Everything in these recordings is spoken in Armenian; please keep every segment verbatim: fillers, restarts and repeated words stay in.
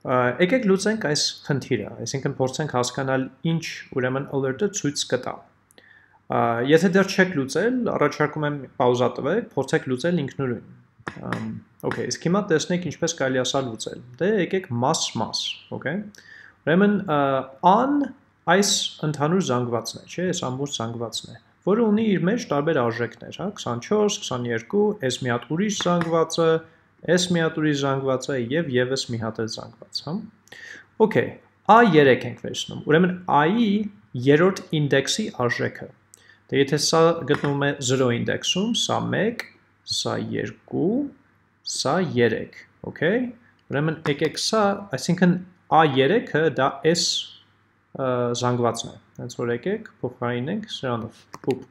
Եկեք լուծենք այս խնդիրը, այսինքն փորձենք հասկանալ ինչ ուրեմն alert-ը ցույց կտա։ Եթե դեռ չեք լուծել, առաջարկում եմ պաուզա տվեք, փորձեք լուծել ինքնուրույն։ Okay, իսկ հիմա տեսնենք ինչպես կարելի է սա լուծել։ Դե եկեք mass-mass, okay։ Ուրեմն an այս ընդհանուր զանգվածն է, չէ՞, այս ամբողջ զանգվածն է, որը ունի իր մեջ տարբեր արժեքներ, հա, twenty-four, twenty-two, այս մի հատ ուրիշ զանգվածը, այս մի հատ ուրիշ զանգվածը եւ եւս մի հատ էլ զանգված, հա։ Okay, a three ենք վերցնում։ Ուրեմն a-ի երրորդ ինդեքսի արժեքը։ Դե եթե սա գտնվում է zero ինդեքսում, սա one, սա two, սա three, okay։ Ուրեմն եկեք սա, այսինքն a three-ը դա s զանգվածն է։ Հենց որ եկեք փոխարինենք սրանով, փուփ։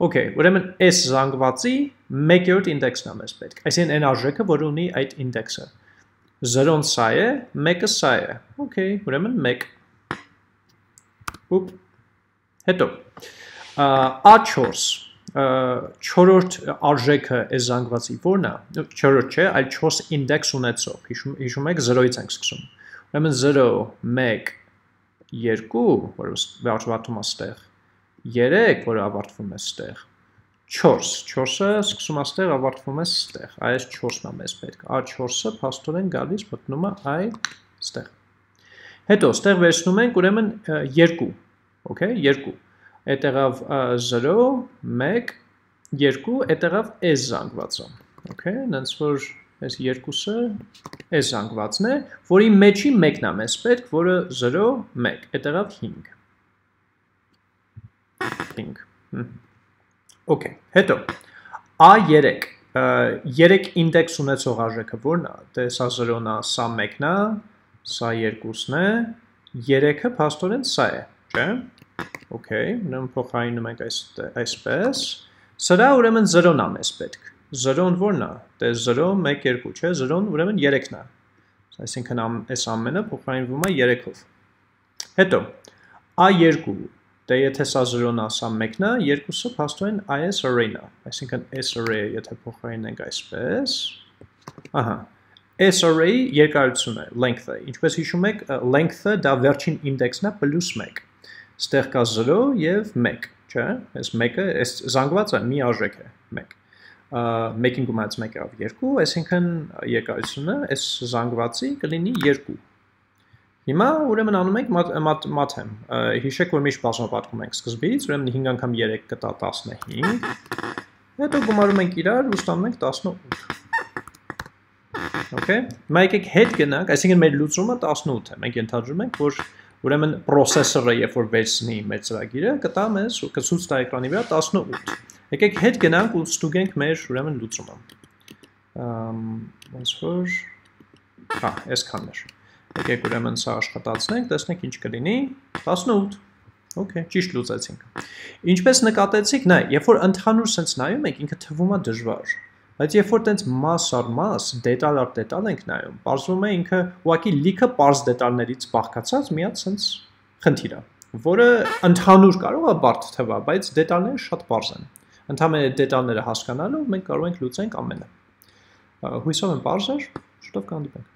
Okay, ուրեմն s զանգվածի one-րդ ինդեքսն է մեզ պետք։ Այսինքն այն արժեքը, որը ունի այդ ինդեքսը։ zero-ն սա է, one-ը սա է։ Okay, ուրեմն one։ Փուփ։ Հետո a four չորրորդ արժեքը այս զանգվածի որն է։ Չորրորդ չէ, այլ four ինդեքս ունեցող։ Հիշում եք zero-ից ենք սկսում։ Ուրեմն zero, one, two, որը վերջվատում է ստեղ, three, որը ավարտվում է ստեղ, four, four-ը սկսում է ստեղ, ավարտվում է ստեղ, այս four-ն է մեզ պետք, a four-ը փաստորեն գալիս մտնում է այ ստեղ։ Հետո ստեղ վերցնում ենք ուրեմն two, okay, two, այդտեղավ zero, one, two, այդտեղավ s զանգվածը, okay, նենց որ այս երկուսը այս զանգվածն է, որի մեջի մեկն է մեզ պետք, որը zero, one, այդտեղավ five։ five։ Okay, հետո a three, three ինդեքս ունեցող արժեքը որն է, դե սա zero-ն է, սա one-ն է, սա two-ն է, three-ը փաստորեն սա է, չէ՞։ Okay, ուրեմն փոխարինում ենք այսպես։ Սրա ուրեմն zero-ն է մեզ պետք։ zero-ն որն է, դե zero, one, two, չէ, zero-ն ուրեմն three-ն է։ Այսինքն այս ամենը փոխարինվում է three-ով։ Հետո a two, դե եթե սա zero-ն է, սա one-ն է, two-ը փաստորեն այս array-ն է։ Այսինքն այս array-ը եթե փոխարինենք այսպես, ահա, այս array-ի երկարությունը, length-ը, ինչպես հիշում եք, length-ը դա վերջին ինդեքսն է plus one։ Ստեղ կա zero եւ one, չէ՞։ Այս one-ը, այս զանգվածը մի արժեք է, one։ one-ին գումարած one av two, այսինքն երկարությունը այս զանգվածի կլինի two։ Հիմա ուրեմն անում ենք մաթեմ։ Հիշեք, որ միշտ բազմապատկում ենք սկզբից, ուրեմն five անգամ three կտա fifteen։ Հետո գումարում ենք իրար ու ստանում ենք eighteen։ Okay։ Հիմա եկեք հետ գնանք, այսինքն մեր լուծումը eighteen է։ Մենք ենթադրում ենք, որ ուրեմն processor-ը երբ որ վերցնի մեր ծրագիրը, կտա մեզ ու կցույց տա էկրանի վրա eighteen։ Եկեք հետ գնանք ու ստուգենք մեր ուրեմն լուծումը։ Ոնց որ հա, այսքանն էր։ Եկեք ուրեմն սա աշխատացնենք, տեսնենք ինչ կլինի eighteen։ Okay, ճիշտ լուծեցինք։ Ինչպես նկատեցիք, նայ, երբ որ ընդհանուր sense նայում եք, ինքը թվում է դժվար։ Բայց երբ որ տենց mass առ mass, դետալ առ դետալ ենք նայում, բարձվում է ինքը ուղղակի լիքը պարզ դետալներից բաղկացած մի հատ sense խնդիր է, որը ընդհանուր կարող է բարդ թվա, բայց դետալները շատ պարզ են։ Ընդհանրապես դետալները հասկանալով մենք կարող ենք լուծենք ամենը։ Հույսով եմ պարզ էր, շուտով կհանդիպենք։